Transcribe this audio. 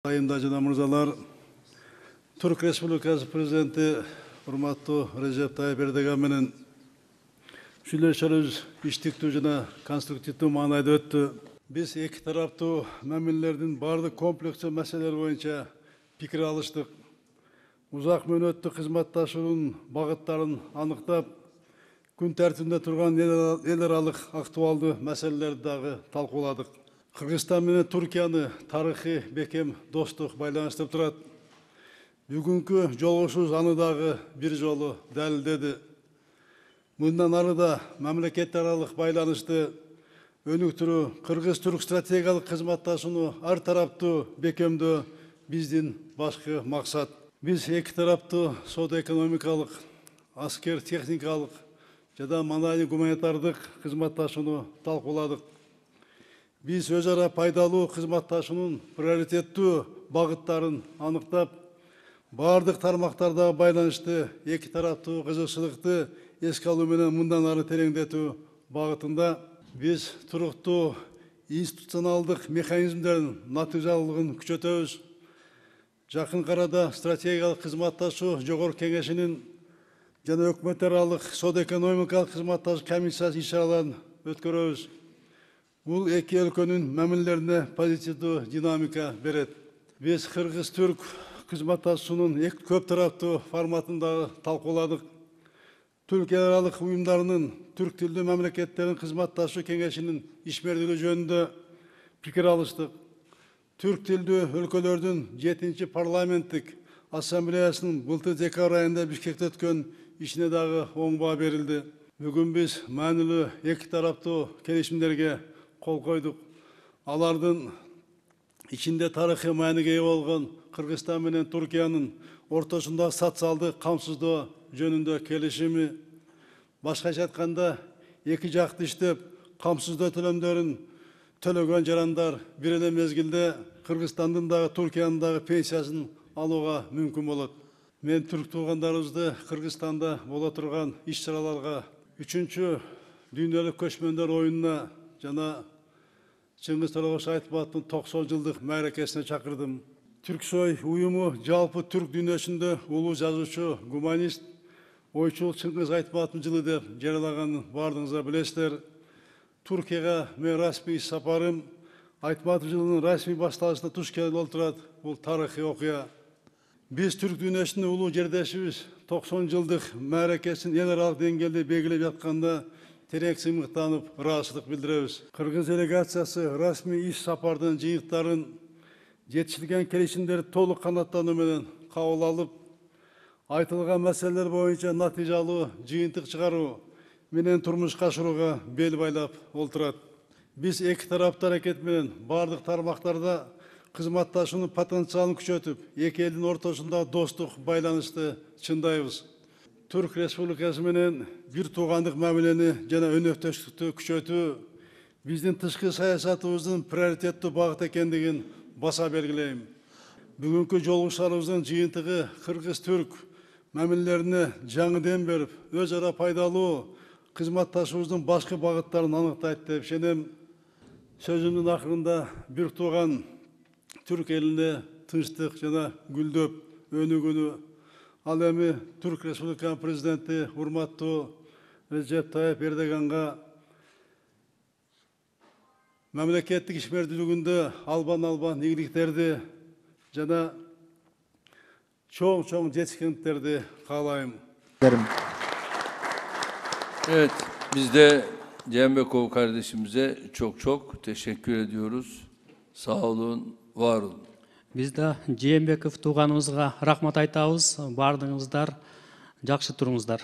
Айымда жана мырзалар, Түрк Республикасы президенти урматтуу Режеп Тайып Эрдоган менен сүйлөшүүлөрүбүз иштиктүү жана конструктивдүү маанайда өттү. Биз эки тараптуу мамилелердин бардык комплекстүү маселелери боюнча пикир алыштык. Узак мөөнөттүү кызматташуунун багыттарын аныктап, күн тартибинде турган эл аралык актуалдуу маселелерди дагы талкууладык. Кыргызстан менен Түркияны тарыхый бекем достук байланыштырып турат. Бүгүнкү жолугушуубуз аны дагы бир жолу далилдеди. Мындан ары да мамлекеттер аралык байланышты өнүктүрүү, кыргыз-түрк стратегиялык кызматташууну ар тараптуу бекемдөө биздин башкы максат. Биз эки тараптуу соода-экономикалык, аскер техникалык жана маданий гуманитардык кызматташууну талкууладык. Биз өз ара пайдалуу кызматташуунун приоритеттүү багыттарын аныктап, бардык тармактардагы байланышты эки тараптуу кызыкчылыкты эске алуу менен мындан ары тереңдетүү багытында биз туруктуу институционалдык механизмдердин натыйжалуулугун күчөтөбүз. Жакын арада стратегиялык кызматташуу жогорку кеңешинин жана өкмөттөр аралык соода-экономикалык кызматташуу комиссиясы иш-чараларын өткөрөбүз. Бул эки өлкөнүн мамилелерине позитивдүү динамика берет. Биз кыргыз-түрк кызматташуунун көп тараптуу форматын дагы талкууладык. Түркия аралык уюмдарынын түрк тилдүү мамлекеттердин кызматташуу кеңешинин ишмердүүлүгү жөнүндө пикир алыштык. Түрк тилдүү өлкөлөрдүн 7-чи парламенттик ассамблеясынын былтыр декабрь айында Бишкекте өткөн ишине дагы оң баа берилди. Бүгүн биз маанилүү эки тараптуу келишимдерге кол койдук. Алардын ичинде тарыхый мааниге ээ болгон Кыргызстан менен Түркиянын ортосундагы социалдык камсыздоо жөнүндө келишими, башкача айтканда эки жакты иштеп камсыздоо төлөмдөрүн төлөгөн жарандар бир эле мезгилде Кыргызстандын дагы Түркиянын дагы пенсиясын алууга мүмкүн болот. Мен түрк туугандарыбызды Кыргызстанда боло турган иш-чараларга 3-чү дүйнөлүк көчмөндөр оюнуна жана Чыңгыз Торобош Айтматовдун 90 жылдык мааракесине чакырдым. Түрксой уюму жалпы түрк дүйнөсүндө улуу жазуучу, гуманист, ойчул Чыңгыз Айтматовдун жылы деп жарыялаганын бардыгыңыздар билесиздер. Түркияга мен расмий иш сапарым Айтматов жылынын расмий башталышына туш келип отурат. Бул тарыхый окуя. Биз түрк дүйнөсүндө улуу жердешибиз 90 жылдык мааракесин эл аралык деңгээлде белгилеп жатканда терең сыймыктанып, ыраазычылык билдиребиз. Кыргыз делегациясы расмий иш сапардын жыйынтыктарын, жетишилген келишимдерди толук канаттануу менен кабыл алып, айтылган маселелер боюнча натыйжалуу жыйынтык чыгаруу менен турмушка ашырууга бел байлап олтурат. Биз эки тараптуу аракет менен бардык тармактарда кызматташуунун потенциалын күчөтүп, эки элдин ортосунда достук байланышты чындайбыз. Түрк Республикасы менен бир туугандык мамилени жана өнөктөштүктү күчөтүү биздин тышкы саясатыбыздын приоритеттүү багыт экендигин баса белгилейм. Бүгүнкү жолугушууларыбыздын жыйынтыгы кыргыз-түрк мамилелерине жаңы дем берип, өз ара пайдалуу кызматташуубуздун башкы багыттарын аныктайт деп ишенем. Сөзүмдүн акырында бир тууган түрк элине тынчтык жана гүлдөп өнүгүүнү, ал эми Түрк Республикасынын президенти урматтуу Режеп Тайып Эрдоганга мамлекеттик ишмердүүлүгүндө албан ийгиликтерди жана чоң жетишкендиктерди каалайм. Evet, biz de Cembekov kardeşimize çok teşekkür ediyoruz. Sağ olun, var olun. Biz de Cembekov тууганыбызга рахмат айтабыз. Бардыгыңыздар жакшы туруңуздар.